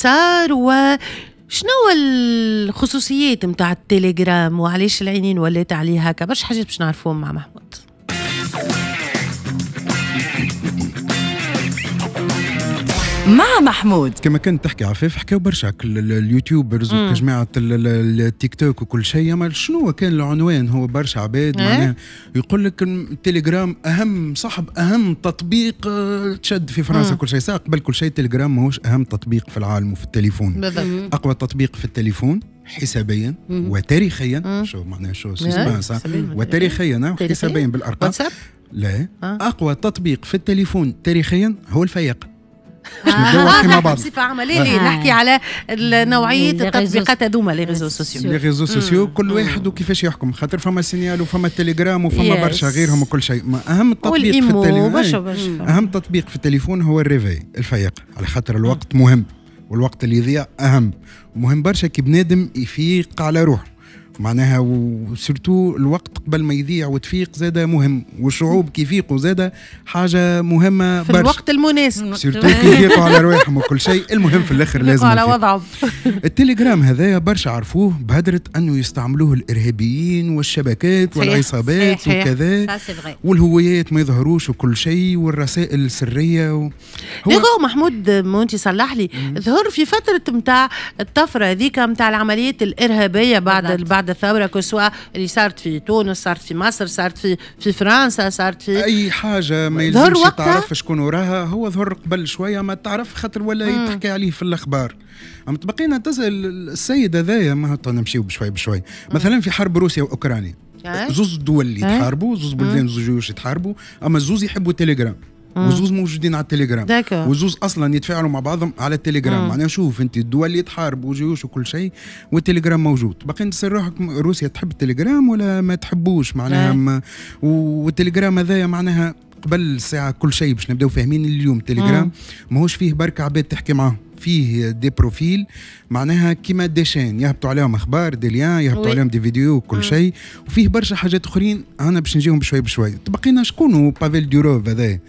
صار وشنو الخصوصيات نتاع التليجرام وعلاش العينين ولات عليه هكا. برشا حاجات باش نعرفوهم مع محمود. مع محمود كما كنت تحكي عفاف، حكاو برشا ال youtubeurs وجماعه التيك توك وكل شيء. اما شنو كان العنوان؟ هو برشا عباد معناها يقول لك التليجرام اهم صاحب اهم تطبيق تشد في فرنسا كل شيء. ساعة قبل كل شيء التليجرام ماهوش اهم تطبيق في العالم وفي التليفون. بالضبط. اقوى تطبيق في التليفون حسابيا وتاريخيا. شو معناها شو suspense؟ وتاريخيا وحسابيا بالارقام. لا، اقوى تطبيق في التليفون تاريخيا هو الفياق. نحكي بصفة عملية، نحكي على نوعية التطبيقات هذوما les réseaux sociaux. les réseaux sociaux كل واحد وكيفاش يحكم، خاطر فما سينيال وفما تليجرام وفما برشا غيرهم وكل شيء. اهم تطبيق في التليفون، اهم تطبيق في التليفون هو ال réveil، الفياق، على خاطر الوقت مهم والوقت اللي يضيع اهم. مهم برشا كي بنادم يفيق على روحه معناها، و surtout الوقت قبل ما يضيع وتفيق زاده مهم، والشعوب كي يفيقوا زاده حاجة مهمة في الوقت المناسب، surtout كي يفيقوا على رواحهم وكل شيء. المهم في الاخر لازم على وضعهم. التليجرام هذايا برشا عرفوه بهدره انه يستعملوه الارهابيين والشبكات والعصابات وكذا، والهويات ما يظهروش وكل شيء، والرسائل السرية هو محمود مونتي صلح لي، ظهر في فترة نتاع الطفرة هذيك نتاع العمليات الارهابية بعد الثورة، que ce soit اللي صارت في تونس، صارت في مصر، صارت في فرنسا، صارت في اي حاجة ما يلزمش تعرف شكون وراها. هو ظهر قبل شوية ما تعرف خاطر ولا يتحكي عليه في الاخبار. اما تبقينا تسال السيد هذايا، ما نمشيو بشوي بشوي. مثلا في حرب روسيا واوكرانيا، زوز دول اللي يتحاربوا، زوز بلدان، زوز جيوش يتحاربوا، اما زوز يحبوا التليجرام وزوز موجودين على التليجرام، وزوز اصلا يتفاعلوا مع بعضهم على التليجرام. معناها شوف انت الدول اللي يتحاربوا وجيوش وكل شيء والتليجرام موجود. باقي تسال روحك روسيا تحب التليجرام ولا ما تحبوش معناها. والتليجرام هذايا معناها قبل الساعة كل شيء باش نبداو فاهمين اليوم التليجرام ماهوش فيه بركة عباد تحكي معاهم، فيه des profils معناها كيما des chaînes يهبطوا عليهم اخبار، des liens يهبطوا عليهم des vidéos كل شيء، وفيه برشا حاجات اخرين انا باش نجيهم بشوي بشوي. تبقينا شكون بافيل دوروف هذا؟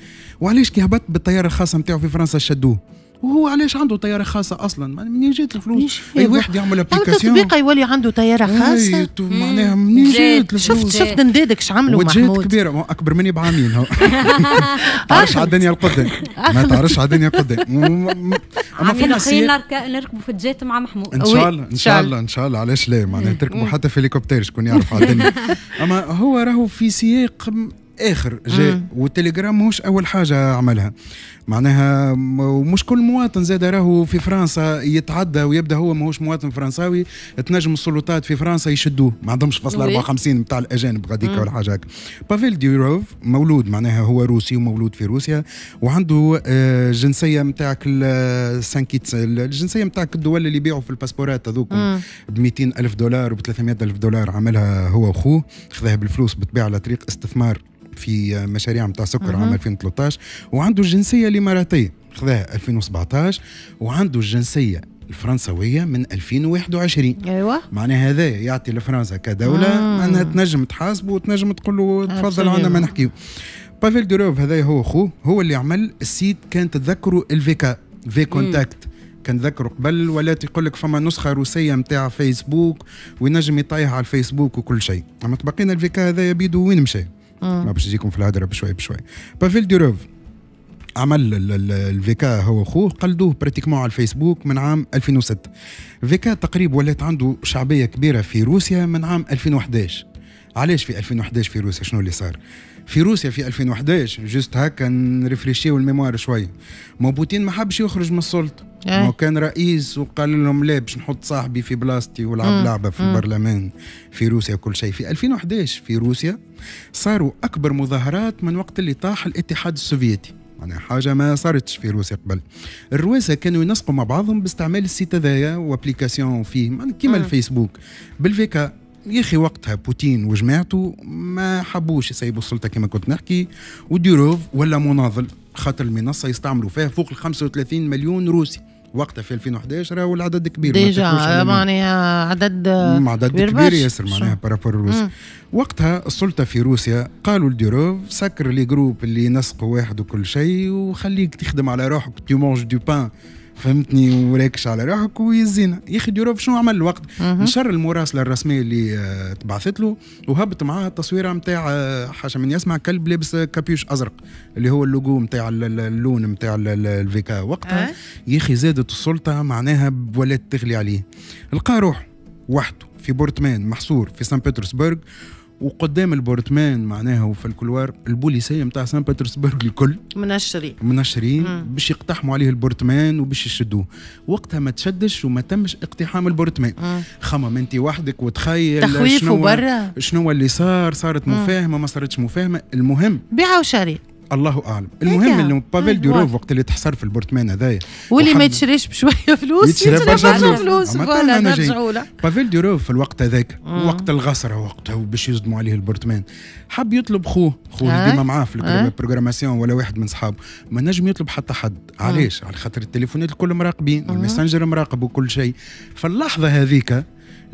وعلاش كي هبط بالطيارة الخاصة نتاعو في فرنسا شدوه؟ وهو علاش عنده طيارة خاصة اصلا؟ منين جات الفلوس؟ اي واحد يعمل application تطبيق يولي عنده طيارة خاصة، معناها منين جات الفلوس؟ شفت ندادك اش عملوا محمود؟ كبيرة اكبر مني بعامين هو. تعرفش على الدنيا القدام، ما تعرفش على الدنيا القدام. اما فما نركبوا في ال jet مع محمود ان شاء الله، ان شاء الله، ان شاء الله. علاش لا؟ معناها تركبوا حتى في هليكوبتر، شكون يعرف على الدنيا. اما هو راهو في سياق اخر جاء، والتليجرام ماهوش اول حاجة عملها معناها. ومش كل مواطن زاد راهو في فرنسا يتعدى ويبدا هو ماهوش مواطن فرنساوي، تنجم السلطات في فرنسا يشدوه، ما عندهمش فصل 54 نتاع الاجانب غاديك ولا حاجة هكا. بافيل ديروف مولود معناها هو روسي ومولود في روسيا، وعنده جنسية نتاعك سانكيتس، الجنسية نتاعك الدول اللي يبيعوا في الباسبورات هذوك ب 200 الف دولار وب 300 الف دولار، عملها هو وخوه، خذاها بالفلوس بالطبيعة على طريق استثمار في مشاريع نتاع سكر عام 2013، وعنده الجنسية الاماراتية خذاها 2017، وعنده الجنسية الفرنسويه من 2021. ايوه معناها هذا يعطي لفرنسا كدولة انها تنجم تحاسبه وتنجم تقول له تفضل عندنا ما نحكيو. بافيل دوروف هذا هو اخوه، هو اللي عمل ال site، كان تتذكروا ال VK، VKontakte كان ذكروا قبل، ولا يقول لك فما نسخه روسية نتاع فيسبوك وينجم يطيح على الفيسبوك وكل شيء. اما تبقينا ال VK هذا يبيدو وين مشى؟ ما باش نجيكم في الهدرة بشوي بشوي. بافيل دوروف عمل ال VK هو اخوه، قلدوه pratiquement على الفيسبوك من عام 2006. VK تقريبا ولات عنده شعبية كبيرة في روسيا من عام 2011. علاش في 2011 في روسيا؟ شنو اللي صار في روسيا في 2011؟ juste هكا نرفريشيو ال mémoire شوي. ما بوتين ما حبش يخرج من السلطة، ما كان رئيس وقال لهم لا باش نحط صاحبي في بلاصتي ولعب لعبه في البرلمان في روسيا وكل شيء. في 2011 في روسيا صاروا اكبر مظاهرات من وقت اللي طاح الاتحاد السوفيتي، معناها حاجة ما صارتش في روسيا قبل. الرواسه كانوا ينسقوا مع بعضهم باستعمال ال site هذايا و application فيه كيما الفيسبوك بال VK. يا اخي وقتها بوتين وجماعته ما حبوش يسيبوا السلطة كما كنت نحكي، وديروف ولا مناضل خاطر المنصة يستعملوا فيها فوق ال 35 مليون روسي وقتها في 2011. راهو العدد كبير déjà، معناها عدد كبير ياسر معناها par rapport الروسي. وقتها السلطة في روسيا قالوا لديروف سكر les groupes اللي ينسقوا واحد وكل شيء وخليك تخدم على روحك، tu manges du pain فهمتني، وراكش على روحك ويزينا. يا اخي دوروف شنو عمل الوقت؟ نشر المراسله الرسمية اللي تبعثت له وهبط معاها التصويره نتاع حاشا من يسمع كلب لابس capuche ازرق اللي هو اللوجو نتاع اللون نتاع الفيكا وقتها. يا اخي زادت السلطة معناها ولات تغلي عليه، لقى روح وحده في appartement محصور في سان بطرسبرغ، وقدام ال appartement معناها وفي ال couloir البوليسيه نتاع سان بطرسبرغ الكل منشرين باش يقتحموا عليه ال appartement وباش يشدوه. وقتها ما تشدش وما تمش اقتحام ال appartement. خمم انت وحدك وتخيل تخويف وبرا شنو اللي صار، صارت مفاهمه ما صارتش مفاهمه، المهم بيع وشري الله اعلم. المهم انه بافيل دوروف وقت اللي تحصر في ال appartement هذايا واللي ما يتشريش بشوية فلوس يتشري برشا فلوس، voilà نرجعوا له. بافيل دوروف في الوقت هذاك وقت الغسره وقتها وباش يصدموا عليه ال appartement، حب يطلب خوه اللي ديما معاه في ال programmation ولا واحد من صحابه، ما نجم يطلب حتى حد. علاش؟ على خاطر التليفونات الكل مراقبين والماسنجر مراقب وكل شيء. فاللحظه هذيك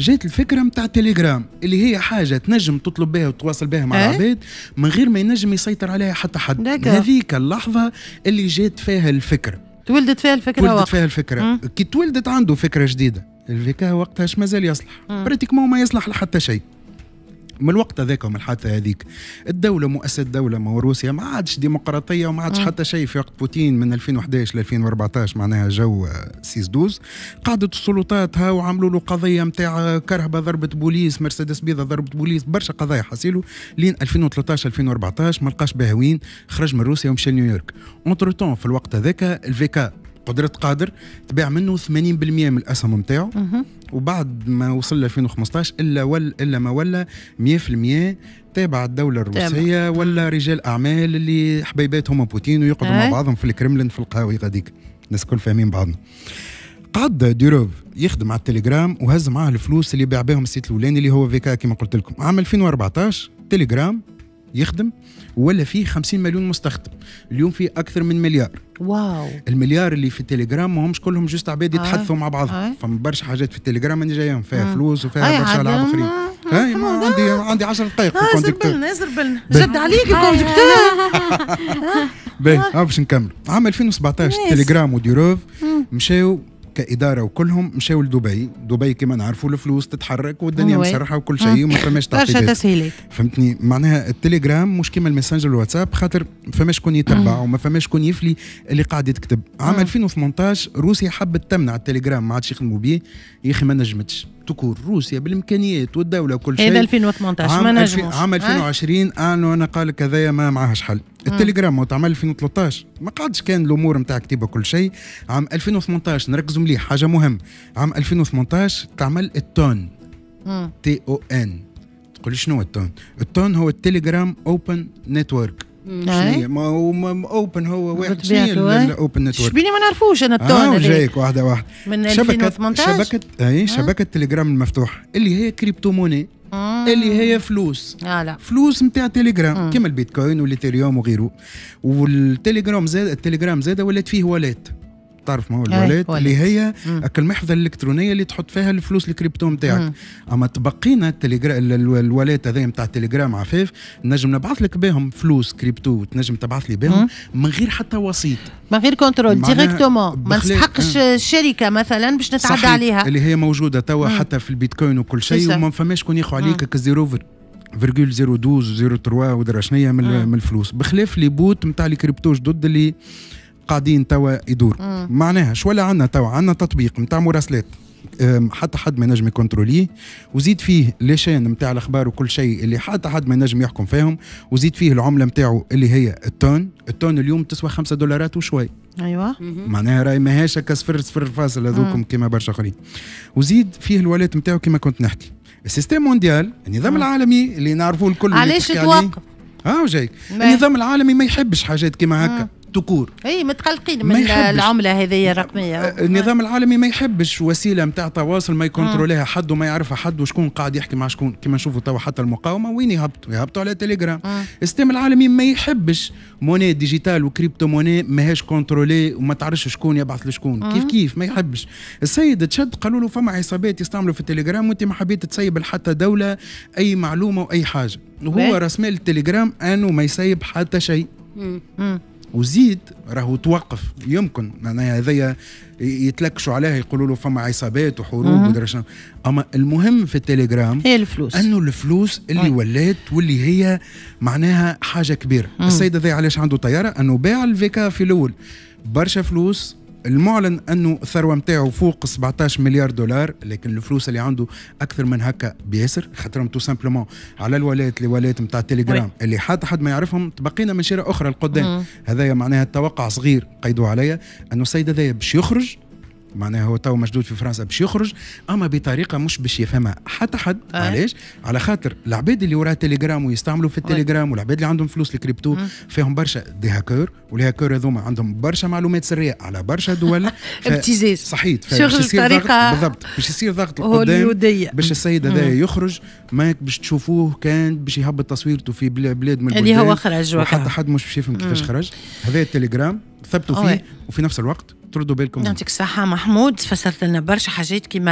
جات الفكرة نتاع تليجرام اللي هي حاجة تنجم تطلب بها وتواصل بها مع العباد من غير ما ينجم يسيطر عليها حتى حد. هذيك اللحظة اللي جات فيها الفكرة، تولدت فيها الفكرة، تولدت فيها الفكرة. كي تولدت عنده فكرة جديدة، الفيكا وقتها اش مازال يصلح؟ pratiquement ما يصلح لحتى شيء. من الوقت هذاك ومن الحادثة هذيك الدولة مؤسسة الدولة ما روسيا ما عادش ديمقراطية وما عادش حتى شيء. في وقت بوتين من 2011 ل 2014 معناها جو 6-12 قعدت السلطات ها وعملوا له قضية نتاع كرهبه ضربت بوليس، مرسيدس بيضة ضربت بوليس، برشا قضايا حصيلو لين 2013 2014 ما لقاش بها وين، خرج من روسيا ومشى لنيويورك. entre-temps في الوقت هذاك الفيكا قدرة قادر تباع منه 80% من الاسهم نتاعو، وبعد ما وصل ل 2015 الا ما ولا 100% تابع الدولة الروسية ولا رجال اعمال اللي حبيباتهم بوتين ويقعدوا مع بعضهم في الكرملين في القهاوي غاديك، الناس الكل فاهمين بعضنا. قعد دوروف يخدم على التليجرام وهز معاه الفلوس اللي باع بهم ال site الاولاني اللي هو فيكا كما قلت لكم. عام 2014 تليجرام يخدم ولا فيه 50 مليون مستخدم، اليوم فيه اكثر من مليار. واو. المليار اللي في التليجرام ما همش كلهم juste عباد يتحدثوا مع بعضهم، فما برشا حاجات في التليجرام اللي جايين فيها فلوس وفيها برشا العاب اخرين. هاي عندي 10 دقائق في ال conducteur. ازربلنا جد عليك ال conducteur. باهي باش نكمل. عام 2017 تليجرام وديروف مشاو كإدارة وكلهم مشاو لدبي. دبي كما نعرفوا الفلوس تتحرك والدنيا مسرحة وكل شيء وما فماش تعقيدات، برشا تسهيلات. فهمتني؟ معناها التليجرام مش كيما الماسنجر والواتساب خاطر ما فماش شكون يتبع وما فماش شكون يفلي اللي قاعد يتكتب. عام 2018 روسيا حبت تمنع التليجرام ما عادش يخدموا به، يا اخي ما نجمتش تكون روسيا بالامكانيات والدولة وكل شيء. هذا 2018 ما نجموش. عام 2020 انا قال لك هذايا ما معهاش حل. التليجرام وتعمل 2013 ما قعدش كان الامور نتاع كتيبة كل شيء. عام 2018 نركزوا مليح حاجة مهم، عام 2018 تعمل التون، TON. تقول شنو التون؟ التون هو التليجرام open network. شنو ما هو open هو واحد، شنو ال open network؟ شبيني ما نعرفوش انا التون. جايك واحدة واحدة. من 2018 شبكة شبكة تليجرام المفتوحة اللي هي crypto-monnaie، اللي هي فلوس. لا. فلوس نتاع تليجرام كيما البيتكوين والإيثيريوم وغيره. والتليجرام زاد، التليجرام زاد ولات فيه wallet، تعرف ما هو ال wallet اللي هي المحفظة الالكترونية اللي تحط فيها الفلوس الكريبتو نتاعك. اما تبقينا التليجرام ال wallet هذا نتاع التليجرام عفاف نجم نبعث لك بهم فلوس كريبتو، تنجم تبعث لي بهم من غير حتى وسيط، من غير contrôle directement، ما نستحقش شركة مثلا باش نتعدى عليها اللي هي موجودة توا حتى في البيتكوين وكل شيء، وما فماش شكون ياخذ عليك 0.02 03 ودرا شنيا من الفلوس، بخلاف les bots نتاع الكريبتو جدد اللي قاعدين توا يدور. معناها شو ولا عندنا توا؟ عندنا تطبيق نتاع مراسلات حتى حد ما ينجم يكونتروليه، وزيد فيه les chaînes نتاع الاخبار وكل شيء اللي حتى حد ما ينجم يحكم فيهم، وزيد فيه العملة نتاعو اللي هي التون. التون اليوم تسوى $5 وشوي. ايوه معناها راهي ماهيش هكا صفر صفر فاصل هذوكم كيما برشا اخرين. وزيد فيه ال wallet نتاعو كيما كنت نحكي. ال système mondial، النظام العالمي اللي نعرفوه الكل، علاش توقف؟ جايك. النظام العالمي ما يحبش حاجات كيما هكا tout court. اي متقلقين من العملة هذه الرقمية. النظام العالمي ما يحبش وسيلة نتاع تواصل ما يكونتروليها حد وما يعرفها حد وشكون قاعد يحكي مع شكون، كما نشوفوا توا حتى المقاومة وين يهبطوا؟ يهبطوا على تليجرام. ال système العالمي ما يحبش monnaie digitale و crypto-monnaie ماهيش contrôlée وما تعرفش شكون يبعث لشكون. كيف كيف ما يحبش. السيد تشد قالوا له فما عصابات يستعملوا في التليجرام وانت ما حبيت تسيب لحتى دولة اي معلومة واي حاجة، وهو راس مال التليجرام انه ما يسيب حتى شيء. وزيد راهو توقف، يمكن معناها هذايا يتلكشوا عليها، يقولوا له فما عصابات وحروب ودرا شنو. اما المهم في التليجرام هي الفلوس، انه الفلوس اللي ولات واللي هي معناها حاجة كبيره. السيد هذا علاش عنده طياره؟ انه باع ال VK في الاول برشا فلوس. المعلن انه الثروة نتاعو فوق 17 مليار دولار، لكن الفلوس اللي عنده اكثر من هكا بياسر، خاطرهم tout simplement على ال wallets، les wallets نتاع التليجرام اللي حتى حد ما يعرفهم. تبقينا من شيره اخرى لقدام. هذايا معناها التوقع صغير قيدوا عليا انه السيد هذايا باش يخرج، معناها هو تو مشدود في فرنسا، باش يخرج اما بطريقة مش باش يفهمها حتى حد. علاش؟ على خاطر العباد اللي وراء تليجرام ويستعملوا في التليجرام والعباد اللي عندهم فلوس الكريبتو فيهم برشا des hackers، وال hackers هذوما عندهم برشا معلومات سرية على برشا دول. ابتزاز. صحيت. شغل طريقه. بالضبط، باش يصير ضغط القدام باش السيد هذا يخرج. ما باش تشوفوه كان باش يهبط تصويرته في بلاد من اللي هو خرج، وحتى حد مش باش يفهم كيفاش خرج. هذا التليجرام ثبتوا فيه، وفي نفس الوقت تردوا بالكم. يعطيك الصحة محمود، فسرت لنا برشا حاجات كيما